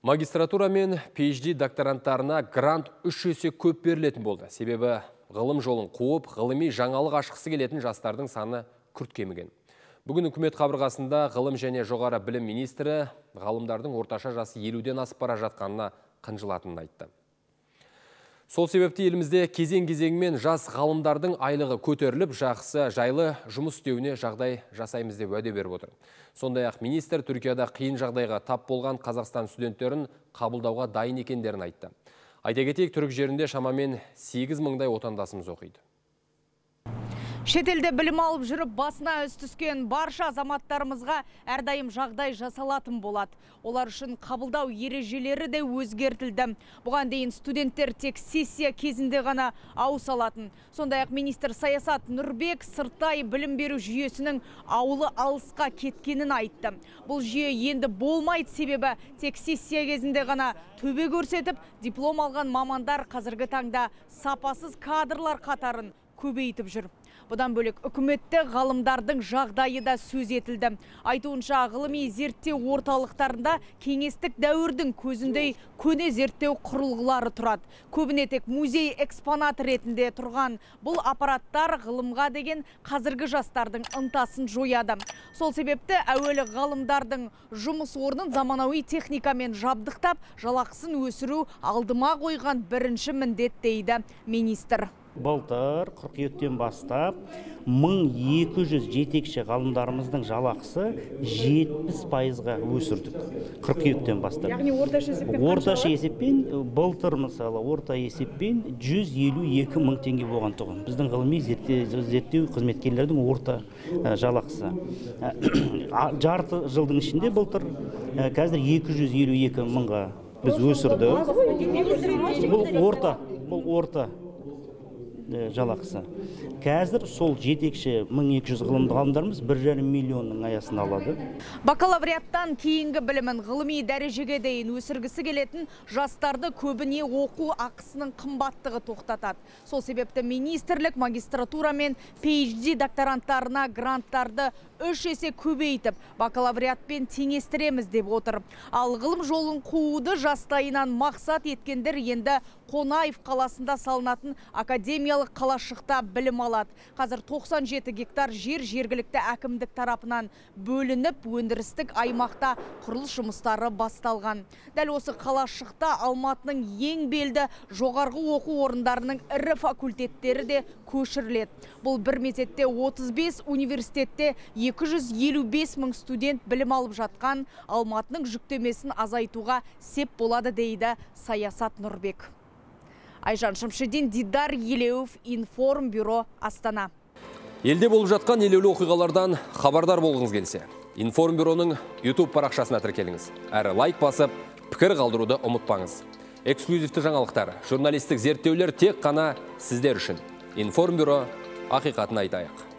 Магистратура мен PhD докторанттарына грант 3 есе көп берілетін болды. Себебі ғылым жолын қуып, ғылыми жаңалық ашқысы келетін жастардың саны күрт кеміген. Бүгін үкімет қабырғасында ғылым және жоғары білім министрі ғалымдардың орташа жасы 50-ден асып бара жатқанына қынжылатынын айтты. Сол себепті елімізде кезең-кезеңмен жас ғалымдардың айлығы көтеріліп, жақсы жайлы жұмыс істеуіне жағдай жасаймыз деп уәде беріп отыр. Сондай-ақ министр Түркияда қиын жағдайға тап болған Қазақстан студенттерін қабылдауға дайын екендерін айтты. Айта кетейік, түрік жерінде шамамен 8 мыңдай отандасымыз оқиды. Шетелде білім алып жүріп, басына үс түскен барша азаматтарымызға әрдайым жағдай жасалатын болады. Олар үшін қабылдау ережелері де өзгертілді. Бұған дейін студенттер тек сессия кезінде ғана ауыс алатын. Сондай-ақ министр Саясат Нұрбек сырттай білім беру жүйесінің ауылы алысқа кеткенін айтты. Бұл жүйе енді болмайды, себебі тек сессия кезінде ғана төбе көрсетіп, диплом алған мамандар қазіргі таңда сапасыз кадрлар қатарын көбейтіп жүр. Бұдан бөлек үкіметте ғалымдардың жағдайы да сөз етілді. Айтуынша ғылыми зерттеу орталықтарында кеңестік дәуірдің көзіндей көне зерттеу құрылғылары тұрады. Көбіне тек музей экспонат ретінде тұрған бұл аппараттар ғылымға деген қазіргі жастардың ынтасын жояды. Сол себепті әуелі ғалымдардың жұмыс орнын заманауи техникамен жабдықтап, жалақысын өсіру алдыма қойған бірінші міндет дейді министр. Былтыр қыркүйектен бастап 1200 жетекші ғалымдарымыздың жалақысы 70%-ға өсірдік. Қыркүйектен бастап. Яғни орташа есеппен былтыр мысалы орта есеппен 152 мың теңге болған тұғын. Біздің ғылыми зерттеу қызметкерлердің орта жалақысы. Жарты жылдың ішінде былтыр қазір 252 мыңға біз өсірді. Бұл орта жалақысы. Қазір сол жетекші 1200 ғалымдарымыз 1,5 миллионның аясын алады. Бакалавриаттан кейінгі білімін ғылыми дәрежеге дейін өсіргісі келетін жастарды көбіне оқу ақысының қымбаттығы тоқтатады. Сол себепті министрлік магистратура мен PhD докторанттарына гранттарды 3 есе көбейтіп, бакалавриатпен теңестіреміз деп отыр. Ал ғылым жолын қууды жастайынан мақсат еткендер енді Қонаев қаласында салынатын академиялық қалашықта білім алады. Қазір 97 гектар жер жергілікті әкімдік тарапынан бөлініп, өндірістік аймақта құрылыс жұмыстары басталған. Дәл осы қалашықта Алматының ең белді жоғарғы оқу орындарының ірі факультеттері де көшіріледі. Бұл бір мезетте 35 университетте 255 мың студент білім алып жатқан Алматының жүктемесін азайтуға сеп болады дейді Саясат Нұрбек. Айжан Шамшидин, Дидар Елеуов, Информбюро, Астана. Елде болып жатқан елеулі оқиғалардан хабардар болғыңыз келсе, Информбюроның YouTube парақшасына тіркеліңіз. Әрі лайк басып, пікір қалдыруды ұмытпаңыз. Эксклюзивті жаңалықтар, журналистік зерттеулер тек қана сіздер үшін. Информбюро, ақиқатын айтайық.